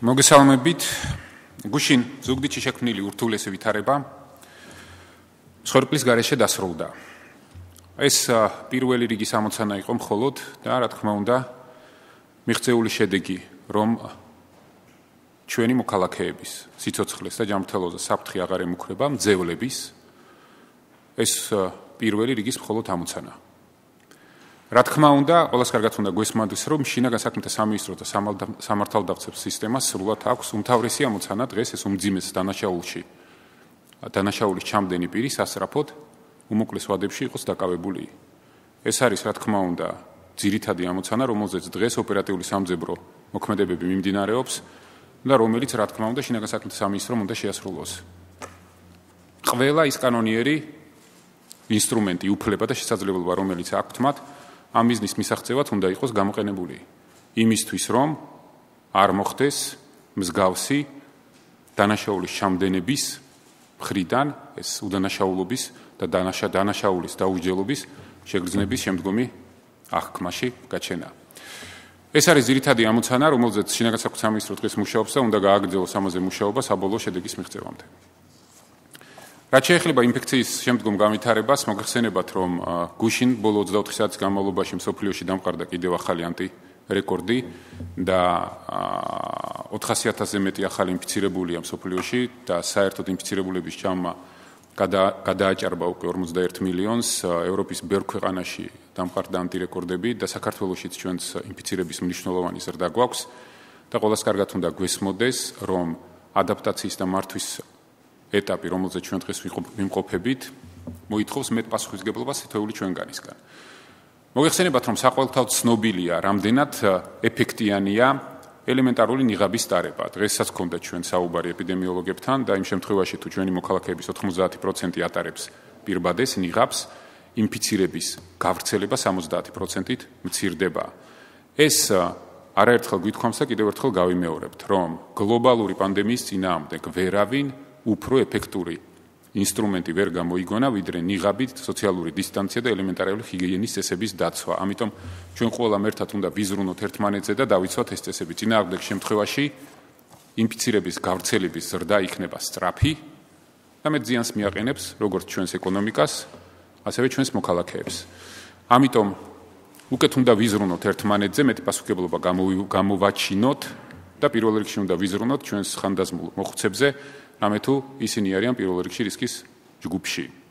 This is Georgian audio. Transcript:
მოგესალმებით. გუშინ ზუგდიდში შექმნილი ურთულესი ვითარება მსხვერპლის გარეშე დასრულდა. ეს პირველი რიგის ამოცანა იყო მხოლოდ და რა თქმა უნდა მიღწეული შედეგი, რომ ჩვენი მოქალაქეების სიცოცხლეს და ჯანმრთელობაზე საფრთხე აღარ ემუქრება მძევლების ეს პირველი რიგის მხოლოდ ამოცანა. რა თქმა უნდა, ყველას კარგად უნდა გვესმოდეს, რომ შინაგან საქმეთა სამინისტრო და სამართალდამცავ სისტემას სრულად აქვს უმთავრესი ამოცანა დღეს ეს უმძიმეს დანაშაულის ჩამდენი პირი სასწრაფოდ უმოკლეს ვადებში იყოს დაკავებული. ეს არის რა თქმა უნდა ძირითადი ამოცანა, რომელზეც დღეს ოპერატიული სამძებრო მოქმედებები მიმდინარეობს და რომელიც რა თქმა უნდა შინაგან საქმეთა სამინისტრომ უნდა შეასრულოს. ყველა ის კანონიერი ინსტრუმენტი, უფლება და შესაძლებლობა, რომელიც აქვთ მათ, ამ ბიზნეს მისაღწევად უნდა იყოს გამოყენებული იმისთვის, რომ არ მოხდეს მსგავსი დანაშაულის ჩამდენების მხრიდან ეს უდანაშაულობის და დანაშაულის დაუსჯელობის შეგრძნების შემდგომი აღქმაში გაჩენა. ეს არის ძირითადი ამოცანა, რომელზეც შინაგან საქმეთა სამინისტრო დღეს მუშაობს და უნდა გააგრძელოს ამაზე მუშაობა საბოლოო შედეგის მიღწევამდე. რაც შეეხება ინფექციის შემდგომ განვითარებას, მოგეხსენებათ, რომ გუშინ ბოლო 24 საათის განმავლობაში მსოფლიოში დამყარდა კიდევ ახალი ანტირეკორდი და 400,000-ზე მეტი ახალი ინფიცირებულია მსოფლიოში და საერთოდ ინფიცირებულების ჯამმა გადააჭარბა უკვე 41 მილიონს. ევროპის ბევრ ქვეყანაში დამყარდა ანტირეკორდები და საქართველოშიც ჩვენს ინფიცირების მნიშვნელოვანი ზრდა გვაქვს და ყველას კარგად უნდა გვესმოდეს, რომ ადაპტაციის და მართვის ეტაპი, რომელზეც ჩვენ დღეს ვიმყოფებით, მოითხოვს მეტ პასუხისმგებლობას თითოეული ჩვენგანისგან. მოგეხსენებათ, რომ საყოველთაოდ ცნობილია, რამდენად ეფექტიანია ელემენტარული ნიღაბის ტარება. დღესაც გქონდა ჩვენ საუბარი ეპიდემიოლოგებთან და იმ შემთხვევაში, თუ ჩვენი მოქალაქეების 90% ატარებს პირბადეს ნიღაბს, ინფიცირების გავრცელება 70%-ით მცირდება. ეს არაერთხელ გვითხოვს და კიდევ ერთხელ გავიმეორებთ, რომ გლობალური პანდემიის წინააღმდეგ ვერავინ უფრო ეფექტური ინსტრუმენტი ვერ გამოიგონა, ვიდრე ნიღაბით, სოციალური დისტანცია და ელემენტარული ჰიგიენის წესების დაცვა. ამიტომ ჩვენ ყველამ ერთად უნდა ვიზრუნოთ ერთმანეთზე და დავიცვათ ეს წესები. წინააღმდეგ შემთხვევაში ინფიცირების გავრცელების ზრდა იქნება სწრაფი და მეტ ზიანს მიაყენებს როგორც ჩვენს ეკონომიკას, ასევე ჩვენს მოქალაქეებს. ამიტომ უკეთ უნდა ვიზრუნოთ ერთმანეთზე, მეტი პასუხისმგებლობა გამოვაჩინოთ და პირველ რიგში უნდა ვიზრუნოთ ჩვენს ხანდაზმულ მოხუცებზე, რამე თუ ისინი არიან პირველ რიგში რისკის ჯგუფში.